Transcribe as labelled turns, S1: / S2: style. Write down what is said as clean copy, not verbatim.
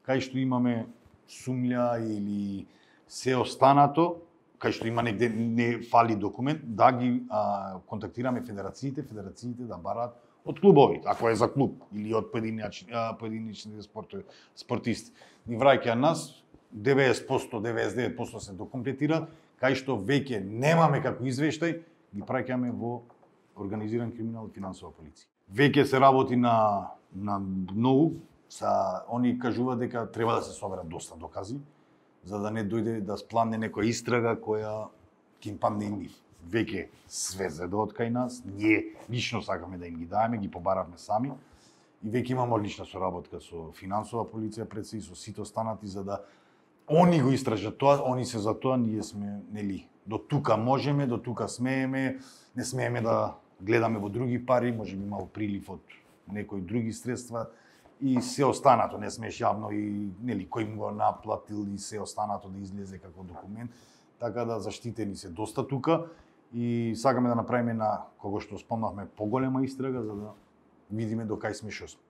S1: кај што имаме сумља или се останато, кај што има негде не фали документ, да ги контактираме федерациите да бараат од клубовите, ако е за клуб или од поединечните спортисти. Ни враќаат нас 90%, 99% се докомплетира, кај што веќе немаме како извештај, ги праќаме во организиран криминал и финансова полиција. Веќе се работи на многу, они кажуваат дека треба да се соберат доста докази, за да не дојде да спламне некоја истрага која ќе им падне и нив. Веќе све зеде од кај нас, ние лично сакаме да им ги даеме, ги побаравме сами и веќе имаме одлична соработка со финансова полиција пред се и со сите останати за да они го истражат тоа, они се за тоа, ние сме, нели, до тука можеме, до тука смееме, не смееме да гледаме во други пари, можеби имало прилив од некои други средства и се останато, не смееш јавно и нели кој му го наплатил и се останато да излезе како документ, така да заштитени се доста тука и сакаме да направиме на кого што спомнавме поголема истрага за да видиме до кај сме што сме.